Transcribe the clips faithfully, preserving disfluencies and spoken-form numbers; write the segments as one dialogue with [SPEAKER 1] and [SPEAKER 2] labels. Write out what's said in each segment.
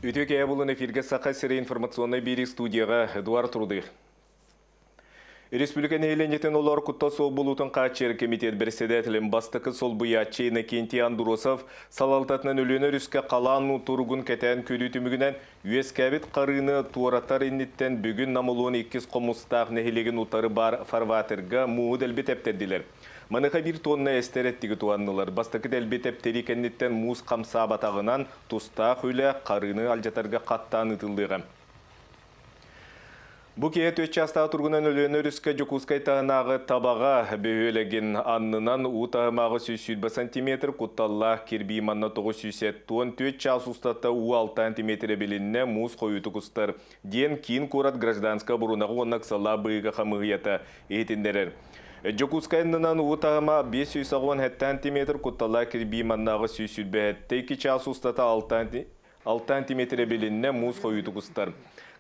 [SPEAKER 1] Үтүө киэһэ буоллун, эфиргэ Саха сирэ информационнай биэрии, студияҕа Эдуард Рудых. Республика нэһилиэнньэтин олоҕор куттал суох буолуутун хааччыйар комитет председателин бастакы солбуйааччы Иннокентий Андросов салалтатынан Өлүөнэ өрүскэ халаан туругун кэтээн көрүү түмүгүнэн үөскээбит харыыны туоратар инниттэн бүгүн Нам улууһун Иккис Хомустаах нэһилиэгин утары баар фарватерга мууһу дэлби тэптэрдилэр. Маныаха биир тонна эстэр эттиги туһаннылар. Бастакы дэлби тэптэрии кэнниттэн муус хамсаабатаҕынан тустаах үлэ харыыны алдьатарга хаттаан ыытыллыаҕа. Бу киэһэ түөрт чаастаах туругунан Өлүөнэ өрүскэ Дьокуускай таһынааҕы Табаҕа бөһүөлэгин аннынан уу таһыма аҕыс сүүс сүүрбэ сантиметр, кутталлаах кирбии манна тоҕус сүүс уон түөрт чаас устата уу алта сантиметр эбилиннэ, муус хойуутук устар, диэн киин куорат гражданскай оборонаҕа уонна ыксаллаах быһыыга хамыыһыйата иһитиннэрэр. Дьокуускай аннынан уу таһыма биэс сүүс аҕыс уон сэттэ сантиметр, кутталлаах кирбии манна аҕыс сүүс сүүрбэ сэттэ икки чаас устата алта сантиметр эбилиннэ, муус хойуутук устар.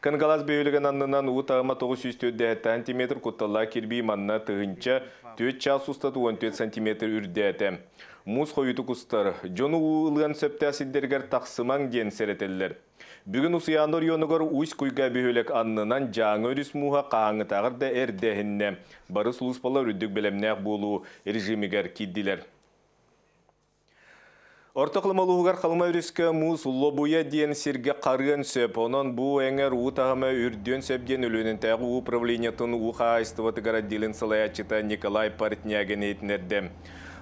[SPEAKER 1] Кангаласс бөһүөлэгин аннынан уу таһыма тоҕус сүүс төрт сантиметр, кутталлаах кирбии манна тыһыынча түөрт чаас устата уон түөрт сантиметр үрдээтэ. Муус хойуутук устар. Дьону уу ылыан сөптөөх сирдэригэр тахсымаҥ диэн сэрэтэллэр. Бүгүн Усуйаана оройуонугар Усть-Куйга бөһүөлэк аннынан Дьааҥы өрүс мууһа хаһааҥҥытааҕар да эрдэ эһиннэ. Бары сулууспалар үрдүк бэлэмнээх буолуу режимигэр киирдилэр. Орто Халыма улууһугар Халыма өрүскэ муус Лобуйа диэн сиргэ харыан сөп. Онон бу эҥэр уу таһыма үрдүөн сөп диэн Өлүөнэтээҕи уу управлениетын уу хаһаайыстыбатыгар отделын салайааччыта Николай Портнягин иһитиннэрдэ.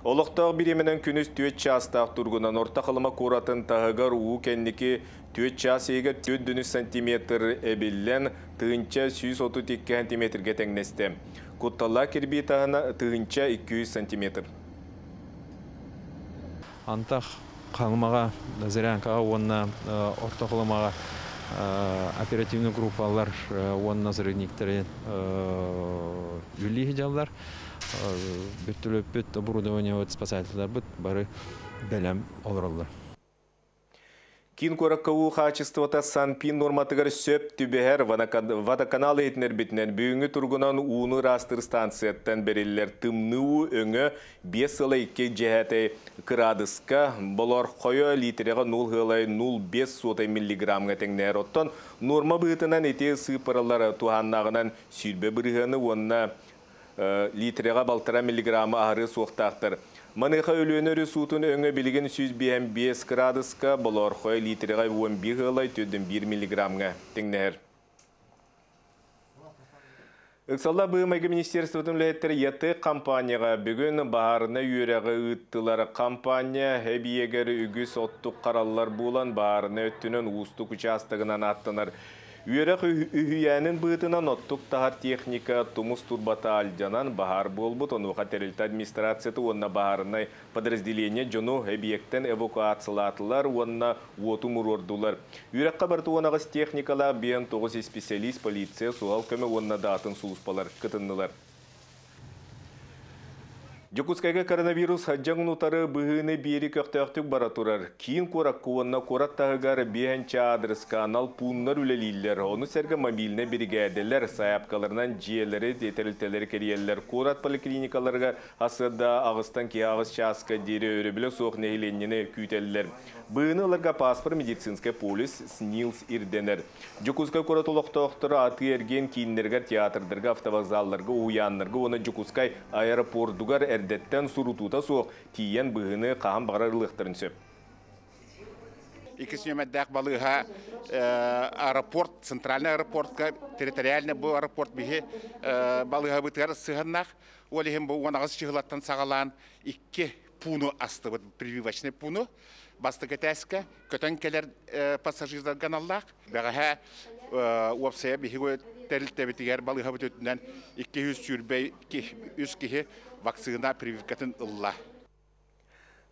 [SPEAKER 1] Олохтоох бириэмэнэн күнүс түөрт чаастаах туругунан Орто Халыма куоратын таһыгар уу кэнники түөрт чаас иһигэр түөрт үс сантиметр эбиллэн тыһыынча сүүс отут икки сантиметргэ тэҥнэстэ. Кутталлаах кирбии таһына тыһыынча икки жүз сантиметр.
[SPEAKER 2] Антах Халымаҕа, Зырянкаҕа уонна Орто Халымаҕа оперативный группалар уонна взрывниктары үлэлии сылдьаллар. Вертолёппут, оборудование, спасательларбыт бары бэлэм олороллор.
[SPEAKER 1] Киин куоракка уу хаачыстыбата СанПиН нуорматыгар сөп түбэһэр. Водоканал иһитиннэрбитинэн, бүгүҥҥү туругунан ууну ыраастыыр станцияттан бэриллэр тымныы уу өҥө биэс сыла икки дьэһээтэй кыраадыска, болоорхойо лиитирэҕэ нөл сыалай нөл биэс суотай миллиграммҥа тэҥнэһэр. Оттон нуорма быһыытынан ити сыыппаралар туһааннааҕынан сүүрбэ бырыһыаны уонна лиитирэҕэ балтараа миллиграммы аһарыа суохтаахтар. Маныаха Өлүөнэ өрүс уутун өҥө билигин сүүс биэс биэс кыраадыска, болоорхойо лиитирэҕэ уон биир сыалай түөрт биир миллиграммҥа тэҥнэһэр. Ыксаллаах быһыы-майгы министерствотын үлэһиттэрэ ЯТЭК компанияҕа бүгүн баһаарынай үөрэҕи ыыттылар. Компания эбийиэгэр үгүс оттук хараллар буолан баһаарынай өттүнэн уустук учаастагынан ааттанар. Үөрэх үһүйээнин быһыытынан оттук таһар техника тумус турбата алдьанан баһаар буолбут, онуоха тэрилтэ администрацията уонна баһаарынай подразделение дьону эбийиэктэн эвакуациялаатылар уонна уоту умуруордулар. Үөрэххэ барыта уон аҕыс техникалаах биэс тоҕус специалист, полиция, суһал көмө уонна да атын сулууспалар кытыннылар. Дьокуускайга коронавирус дьаҥын утары быһыыны биэрии көхтөөхтүк бара турар. Киин куоракка уонна куорат таһыгар биэһинчэ аадырыска анал пууннар үлэлииллэр. Ону сэргэ мобильнай биригээдэлэр сайаапкаларынан дьиэлэри, тэрилтэлэри кэрийэллэр. Куорат поликлиникаларыгар сарсыарда аҕыстан киэһэ аҕыс чааска диэри өрөбүлэ суох нэһилиэнньэни күүтэллэр. Быһыыны ыларга паспорт, медицинскэй полис, СНИЛС ирдэнэр. Дьокуускай куорат олохтоохторо атыы-эргиэн кииннэригэр, театрдарга, автовокзалларга, уһуйааннарга уонна Дьокуускай аэропордугар эрдэттэн сурутуута суох тиийэн быһыыны хаһан баҕарар ылыахтарын сөп.
[SPEAKER 3] Иккис нүөмэрдээх балыыһа аэропорт, центральный аэропортка, территориальный бу аэропорт биһи балыыһабытыгар сыһыаннаах. Ол иһин бу уон аҕыс чыһылаттан саҕалаан икки пууну астыбыт, прививочный пууну. Бастакы этээскэ көтөн кэлэр пассажирдарга аналлаах. Бэҕэһээ уопсайа биһиги тэрилтэбитигэр балыыһабыт өттүнэн икки жүз сүүрбэ үс киһи вакцина прививкатын ылла.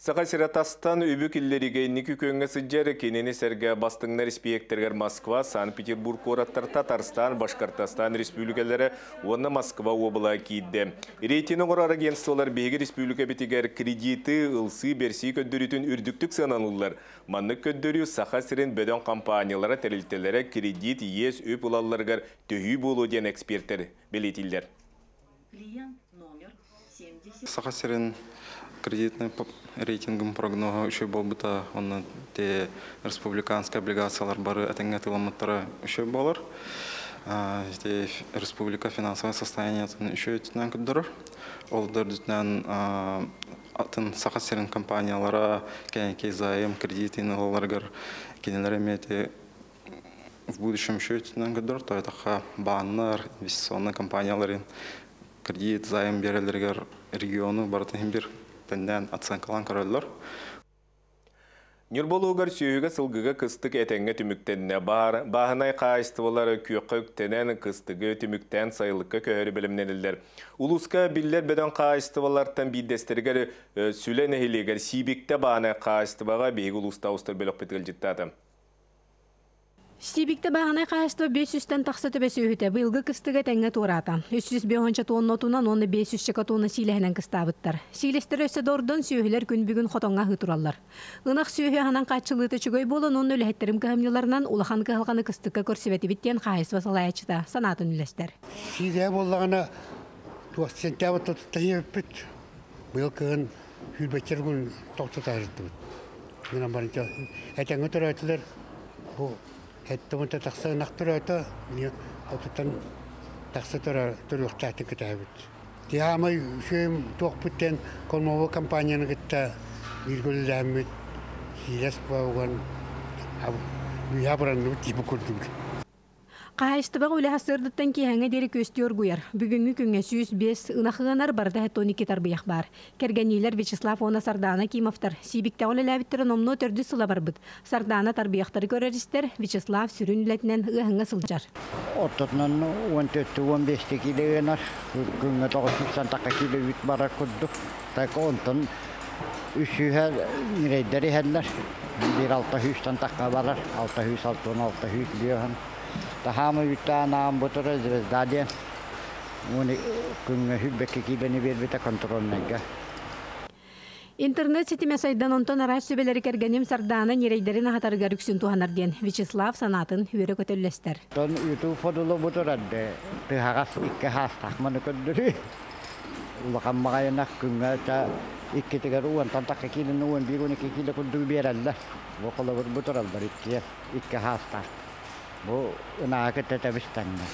[SPEAKER 1] Саха сирэ тастан үбү киллэриигэ инники күөҥҥэ сылдьар, кинини сэргэ бастыҥнар испииһэктэригэр Москва, Санкт-Петербург куораттар, Татарстан, Башкортостан республикалара уонна Москва уобалаһа киирдэ. Рейтинг оҥорор агентстволар биһиги республикабытыгар кредиты ылсыы бэрсии көрдөрүүтүн үрдүктүк сыаналыыллар. Маннык көрдөрүү Саха сирин бөдөҥ компаниялара, тэрилтэлэрэ кредит, иэс үп ылалларыгар төһүү буолуо диэн экспертэр бэлиэтииллэр.
[SPEAKER 4] Клиент номер семьдесят. Саха сирин кредитный рейтингин прогноһа үчүгэй буолбута, онно те республиканскай облигациялар бары этэҥҥэ атыыламмыттара үчүгэй буолар. Те республика финансовое состояниетын үчүгэй өттүнэн көрдөрөр. Ол төрдүтүнэн атын Саха сирин компаниялара кэнники займ кредитин ылаларыгар кинилэр эмиэ те в будущем үчүгэй өттүнэн көрдөрөр. Тоҕо бааннар, инвестиционный компанияларын кредит, займ биэрэллэригэр региону барытын бир тэннээн оценкалаан көрөллөр.
[SPEAKER 1] Ньурба улууһугар сүөһүгэ сылгыга кыстык этэҥҥэ түмүктэннэ. Бааһынай хаһаайыстыбалар күөххэ үктэнэн кыстыгы түмүктээн сайылыкка көһөрү бэлэмнэнэллэр. Улууска биллэр бөдөҥ хаһаайыстыбалартан биирдэстэригэр Сүлэ нэһилиэгэр Сиибиктэ бааһынай хаһаайыстыбаҕа биһиги улуустааҕы устар бөлөхпүт ыалдьыттаата.
[SPEAKER 5] Сиибиктэ бааһынай хаһаайыстыба биэс сүүстэн тахса төбө сүөһүтэ быйылгы кыстыгы этэҥҥэ туораата. Үс сүүс биэс тонна отунан уонна биэс сүүс тонна сиилэһинэн кыстаабыттар. Сиилэстэр өссө да ордон сүөһүлэр күн бүгүн хотоҥҥо аһыы тураллар. Ынах сүөһү аһынан хааччыллыыта үчүгэй буолан уонна үлэһиттэрим кыһамньыларынан улахан кыһалҕаны кыстыкка көрсүбэтибит диэн хаһаайыстыба салайааччыта санаатын үллэстэр.
[SPEAKER 6] Сиилэһэ буоллаҕына туох сентябрь тохтотуйбут. Быйыл кыһын сүүрбэччэ күн тохтото сырыттыбыт. Гынан баран этэҥҥэ төрөөтүлэр бу Эттэ тахса ынах төрөөтө, отуттан тахса төрүөхтээхтик кэтэһэбит. Тиһаамай үчүгэй туохпуттен Кормовой компанияны кытта бииргэ үлэлээммит сиилэс буолан үйэ абыранныбыт тиипи курдук.
[SPEAKER 5] Хаһаайыстыбаҕа үлэ сарсыардаттан киэһээҥҥэ диэри күөстүү оргуйар. Бүгүҥҥү күҥҥэ сүүс биэс ынах ыанар барыта он икки тарбыйах баар. Кэргэнниилэр Вячеслав уонна Сардаана Кимовтар Сиибиктэҕэ үлэлээбиттэрэ номнуо төрдүс сыла барбыт. Сардаана тарбыйахтары көрөр-истэр, Вячеслав сүрүн үлэтинэн ыаһыҥҥа сылдьар.
[SPEAKER 7] Ортотунан он төрт он бэс киилэ ыанар, күҥҥэ тоҕус сүүс тахха киилэ үүт барар курдук. Так онтон үс сүүс ньирэйдэр иһэллэр. Биир алта сүүстэн тахха барар, алта сүүс алта уон алта сүүс биэс. Таһаама үүттээн аан бутура Звезда диэн. Уону күҥҥэ сүүрбэккэ киилэни биэрбитэ контрольнайга.
[SPEAKER 5] Интернет ситимэ сайдан онтон араас сүбэлэри кэргэним Сардаана ньирэйдэрин аһатарыгар үксүн туһанар диэн Вячеслав санаатын үөрэ көтө үллэстэр.
[SPEAKER 7] Тон YouTube фодулу бутурады. Тыһаҕас икки хаастаах маны көрдөрүү. Улахан маҕайынах күҥҥэ та иккитигэр уонтан тахха киилэни уон биир он икки киилэ курдук биэрэллэр. Бу холобур бутураллар икки икки хаастаах. Бу ынаҕа кытта тэбис-тэҥҥэ.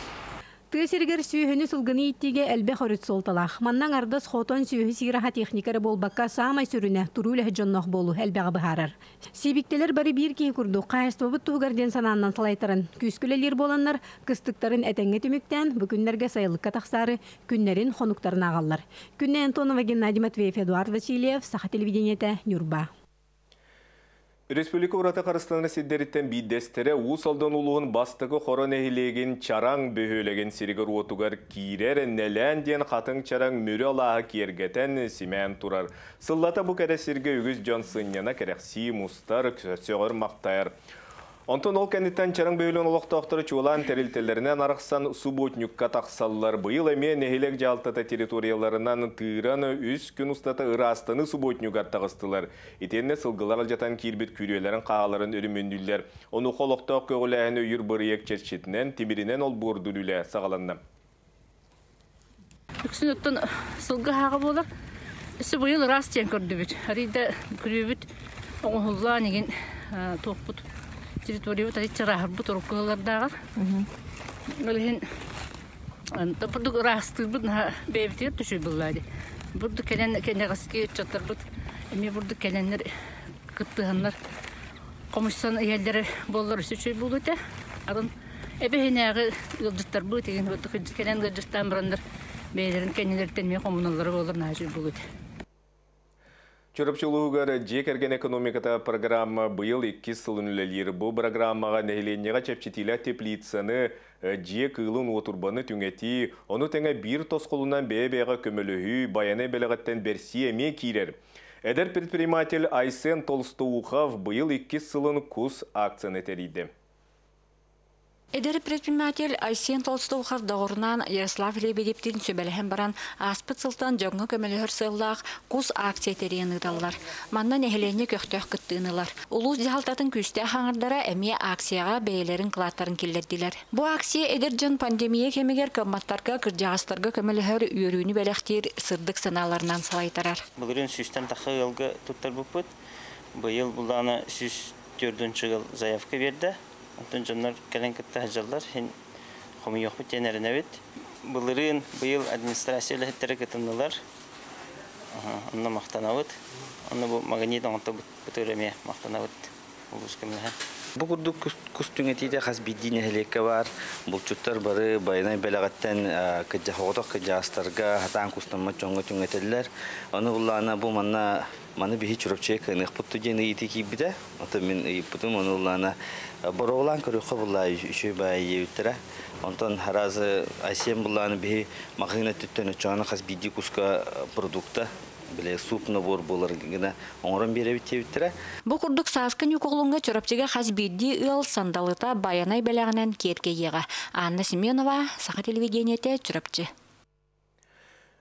[SPEAKER 5] Тыа сиригэр сүөһүнү сылгыны ииттиигэ элбэх өрүт суолталаах. Манна аҥардас хотон сүөһү сиир аһа техника эрэ буолбакка саамай сүрүнэ туруу үлэһит дьонноох буолуу элбэҕи быһаарар. Сиибиктэлэр бары биир киһи курдук хаһаайыстыбабыт туһугар диэн санааннан салайтаран күүскэ үлэлиир буоланнар кыстыктарын этэҥҥэ түмүктээн бу күннэргэ сайылыкка тахсаары күннэрин хонуктарын ааҕаллар. Күннэй Антонова, Геннадий Матвеев, Эдуард Васильев, Саха телевидениетэ, Ньурба.
[SPEAKER 1] Республика ураты харыстанар сирдэриттэн биирдэстэрэ Уус Алдан улууһун Бастакы Хоро нэһилиэгин Чараҥ бөһүөлэгин сиригэр-уотугар киирэр Нэлээн диэн хатыҥ чараҥ Мүрү алааһы киэргэтэн симээн турар. Сыллата бу кэрэ сиргэ үгүс дьон сынньана кэрэхсии мустар, сөҕөр-махтайар. Онтон ол кэнниттэн Чараҥ бөһүөлэгин олохтоохторо чуолаан тэрилтэлэринэн арахсан субботникка тахсаллар. Быйыл эмиэ нэһилиэк дьаһалтата территорияларынан тыыран үс күн устата ыраастаныы субботнигар таҕыстылар. Итиэннэ сылгылар алдьатан киирбит күрүөлэрин хааларын өрөмүөннүүллэр. Онуоха олохтоох көҕүлээһини өйүүр бырайыак чэрчитинэн тимиринэн олбуордуур үлэ саҕаланна.
[SPEAKER 8] Үксүн оттон сылгы хааҕа буолар. Өссө быйыл ыраас диэн көрдүбүт. Арыйда күрүөбүт оҥоһуллаан игин туохпут территориябыт арый чарааһырбыт уруккулардааҕар. Ол иһин бурдук ыраастыырбыт наһаа бэйэбитигэр түшүй буллаа дии. Бурдук кэлэн кэнэҕэски ыччаттарбыт эмиэ бурдук кэлэннэр кыттыһаннар хомуйсан иһэллэрэ буоллар өссө үчүгэй буолуо этэ. Атын эбэһинээҕи ыалдьыттарбыт игин бурдук кэлэн ыалдьыттаан бараннар бэйэлэрин кэннилэриттэн эмиэ хомуналлара буоллар наһаа үчүгэй буолуо этэ.
[SPEAKER 1] Чурапчы улууһугар дьиэ кэргэн экономиката программа быйыл иккис сылын үлэлиир. Бу программаҕа нэһилиэнньэҕэ чэпчэтиилээх теплицаны, дьиэ кыылын уотурбаны түҥэтии, ону тэҥэ биир тосхолунан бэйэ-бэйэҕэ көмөлөһүү, Байанай бэлэҕиттэн бэрсии эмиэ киирэр. Эдэр предприниматель Айсен Толстоухов быйыл иккис сылын кус акцияны тэрийдэ.
[SPEAKER 9] Эдэр предприниматель Айсен Толстовхар доҕорунан Ярослав Лебедевтин сүбэлэһэн баран ааспыт сылтан дьоҥҥо көмөлөһөр сыаллаах кус акция тэрийэн ыыталлар. Манна нэһилиэнньэ көхтөөх кыттыыны ылар. Улуус дьаһалтатын күүстээх аҥардара эмиэ акцияҕа бэйэлэрин кылааттарын киллэрдилэр. Бу акция эдэр дьон пандемия кэмигэр кыамматтарга, кырдьаҕастарга көмөлөһөр үөрүүнү бэлэхтиир сырдык санааларынан салайтарар.
[SPEAKER 10] Былырыын сүүстэн тахса ыалга туттарбыппыт. Быйыл буллаҕына сүүс төрдүн чыгыл заявка биэрдэ. Онтон дьоннор кэлэн кытта сылдьаллар, иһин хомуйуохпут диэн эрэнэбит. Былырыын быйыл администрация үлэһиттэрэ кытыннылар. Онно махтанабыт. Онно бу магнит оҥортобут эмиэ махтанабыт улуус көмөлөһөн.
[SPEAKER 11] Бу курдук кус түҥэтиитэ хас биирдии нэһилиэккэ баар. Булчуттар бары байанай бэлэҕиттэн кыдьа оҕотох кыдьаастарга хатаан кустаммат дьоҥҥо түҥэтэллэр. Ону буллаана бу манна маны биһи Чурапчыга кыаныахпыт диэн ыйытыы киирбитэ. Оттон мин ыйыппытым, ону буллаана боруобалаан көрүөххэ булла үчүгэй баайы диэбиттэрэ. Онтон аразы Айсен буллааны биһи маҕаһыын өттүттэн оччоҕуна хас биирдии куска продукта биле суп набор буолар гына оҥорон биэрэбит диэбиттэрэ.
[SPEAKER 9] Бу курдук сааскы Ньукуолуҥҥа Чурапчыга хас биирдии ыал сандалыта байанай бэлэҕинэн киэркэйиэҕэ. Анна Семенова, Саха телевидениетэ, Чурапчы.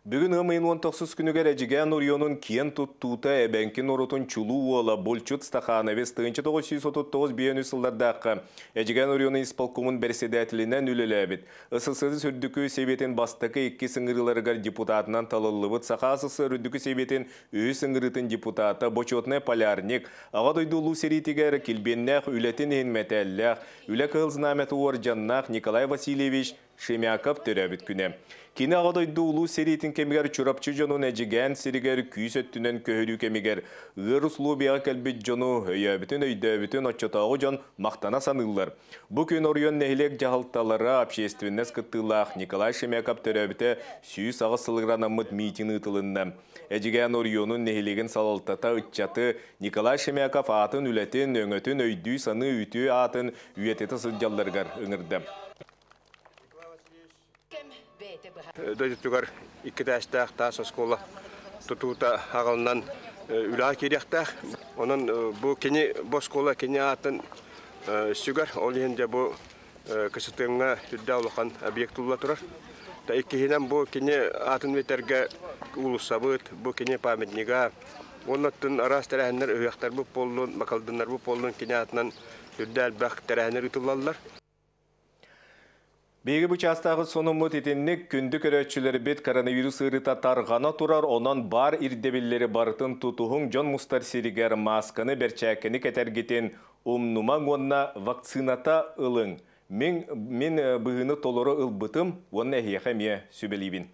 [SPEAKER 1] Бүгүн ыам ыйын уон тохсус күнүгэр Эдьигээн оройуонун киэн туттуута эбэҥки норуотун чулуу уола Булчут Стахановец тыһыынча тоҕус сүүс отут тоҕус биэс үс сыллардаахха Эдьигээн оройуонун исполкомун бэрэссэдээтэлинэн үлэлээбит. СССР Үрдүкү Сэбиэтин бастакы икки ыҥырыыларыгар депутатынан талыллыбыт Саха СССР Үрдүкү Сэбиэтин үһүс ыҥырыытын депутата, бочуотунай полярник, Аҕа дойду улуу сэриитигэр килбиэннээх үлэтин иһин мэтээллээх, Үлэ Кыһыл Знамята уордьаннаах Николай Васильевич Шемяков төрөөбүт күнэ. Кини Аҕа дойду улуу сэриитин кэмигэр Чурапчы дьонун Эдьигээн сиригэр күүс өттүнэн көһөрүү кэмигэр ыар услуобуйаҕа кэлбит дьону өйөөбүтүн өйдөөбүтүн оччотооҕу дьон махтана саныыллар. Бу күн оройуон нэһилиэк дьаһалталара общественность кыттыылаах Николай Шемяков төрөөбүтэ сүүс аҕыс сылыгар анаммыт миитин ыытылынна. Эдьигээн оройуонун нэһилиэгин салалтата ыччаты Николай Шемяков аатын үлэтин, өҥөтүн өйдүү саныы үтүө аатын үйэтитэ сылдьалларыгар ыҥырда.
[SPEAKER 12] Дойдутугар икки тээстээх таас оскуола тутуута аҕалынан үлэҕэ киириэхтээх. Онон бу кини бу оскуола кини аатын сүгэр. Ол иһин дьэ бу КСТМ-ҥа үрдээх улахан объект тулла турар. Та иккиһинэн бу кини аатын үтэргэ уулуссабыт, бу кини памятнига. Оннуттан араас тэрээһиннэр ыһыахтар бу буоллун, бакалдыннар бу буоллун кини аатынан үрдээх элбэх тэрээһиннэр ыытыллаллар.
[SPEAKER 1] Биһиги бу чаастааҕы сонуммут итинник күндү көрөөччүлэрбит коронавирус ыарыыта тарҕана турар, онон баар ирдэбиллэри барытын тутуһуҥ, дьон мустар сиригэр маасканы, бэрчээккэни кэтэргитин умнумаҥ уонна вакцината ылыҥ. Мин, мин быһыыны толору ылбытым уонна эһиэхэ эмиэ сүбэлиибин.